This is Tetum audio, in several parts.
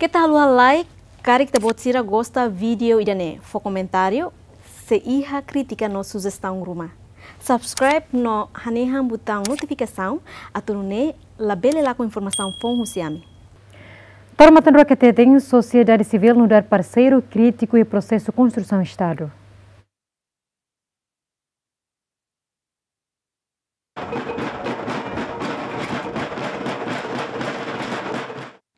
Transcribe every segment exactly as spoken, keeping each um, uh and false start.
Keta haluha like, karik ita-boot sira gosta vídeo ida-ne'e, fó komentáriu, se iha krítika no sujestaun ruma. Subscribe no hanehan butaun notifikasaun, atu nune'e labele lakon informasaun foun husi ami. Para matan rua ka teten, sosiedade sivíl nu'udar parseiru krítiku iha prosesu konstrusaun Estadu.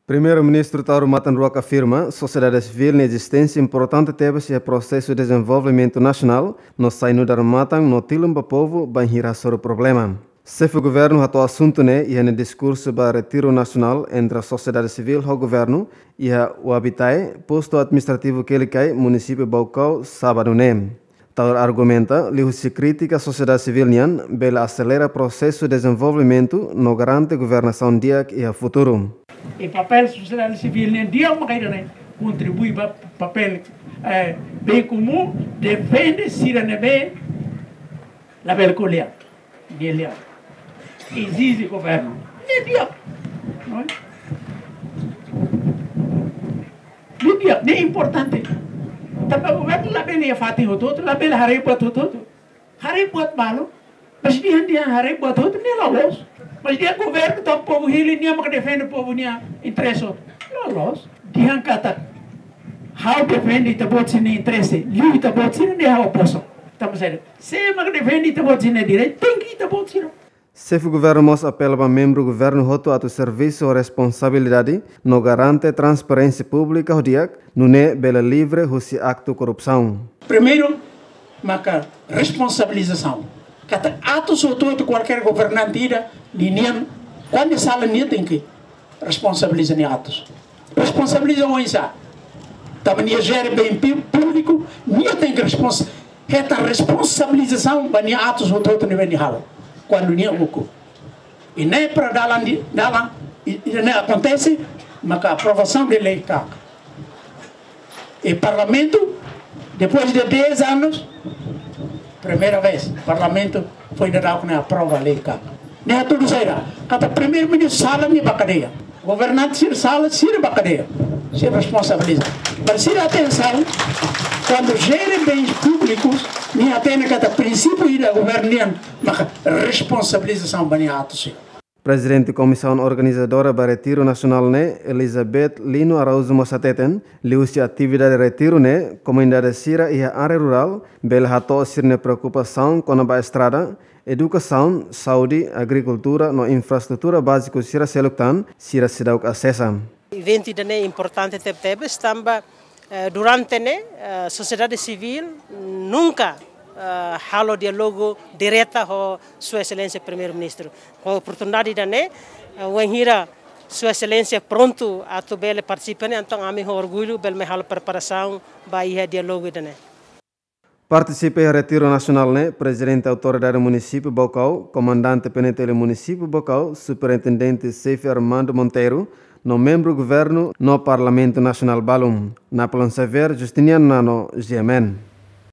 Primeiru-Ministru Taur Matan Ruak afirma, sosiedade sivíl nia ezisténsia importante tebes iha prosesu dezenvolvimentu nasionál, no sai nu'udar matan no tilun ba povu bainhira hasoru problema. Xefe Governu hato'o asuntu ne'e iha nia diskursu ba retiru nasionál entre sosiedade sivíl ho governu iha Uabitae, postu administrativu Kelikai, munisípiu Baucau, sábadu ne'e. Taur argumenta, liuhusi krítika sosiedade sivíl nian, bele aselera prosesu dezenvolvimentu no garante governasaun di'ak iha futuru. I papél sosiedade sivíl nian di'ak maka ida-ne'e kontribui ba papél, eh, bem comum, defende sira ne'ebé labele ko'alia. Nia lian. Ezije governu. Nia di'ak. Não é? Nia di'ak, ne'e importante. Tanba governu labele iha fatin hotu-hotu, labele haree buat hotu-hotu. Haree buat balu. Mas dehan, dehan haree buat hotu, ne'e la loos. Mas dehan governu, entaun povu hili, nia maka defende povu nia interese. La loos. Dehan katak, ha'u defende ita-boot sira-nia interese, liu ita-boot sira ne'e ha'u opozu. Tanba sá? Se maka defende ita-boot sira-nia direitu, tenke ita-boot sira. Xefe Governu mós apela ba membru governu hotu atu servisu ho responsabilidade no garante transparénsia públika ho di'ak, nune'e bele livre husi aktu korrupsaun. Primeiru, maka responsabilizasaun. Katak atus hotu-hotu kualkér governante ida, ninian, kuandu sala nia tenke responsabiliza nia atus. Responsabiliza oinsá? Tanba nia jere bem pi-, públiku, nia tenke respons-, hetan responsabilizasaun ba nia atus hotu-hotu ne'ebé nia halo. Kuandu nia ukun. I ne'e para dalan di, dalan, i, i ne'e akontese, maka aprovasaun de lei KAK. I Parlamentu, depois de dez anos, primeira vez, Parlamentu foin dadauk ne'e aprova lei KAK. Ne'e hatudu saida? Katak Primeiru-Ministru sala, nia ba kadeia. Governante sira sala, sira ba kadeia. Sira responsabiliza. Para sira atensaun, kuandu jere bens públikus, nia hatene katak prinsípiu ida governu nian, maka responsabilizasaun ba nia atus sira. Prezidente Komisaun Organizadora ba Retiru Nasionál ne'e, Elizabeth Lino Araújo mós hateten, liuhusi atividade retiru ne'e, komunidade sira iha área rurál bele hato'o sira-nia preokupasaun kona-ba estrada, edukasaun, saúde, agrikultura no infraestrutura báziku sira seluk tan, sira seidauk asesa. Eventu ida-ne'e importante tebetebes tanba, eh, durante ne'e, eh, sosiedade sivíl nunka, eh, halo diálogu direta ho Sua Exelénsia Primeiru-Ministru. Ho oportunidade ida-ne'e, eh, wainhira Sua Exelénsia prontu atu bele partisipa ne'e, entaun ami ho orgullu bele mai halo preparasaun ba iha diálogu ida-ne'e. Partisipa iha retiru nasionál ne'e, Prezidente Autoridade Munisípiu Baucau, Komandante PNTL Munisípiu Baucau, Superintendente Xefe Armando Monteiro, no membru governu no Parlamentu Nasionál balun. Napoleon Xavier, Justiniano Nano, G M N.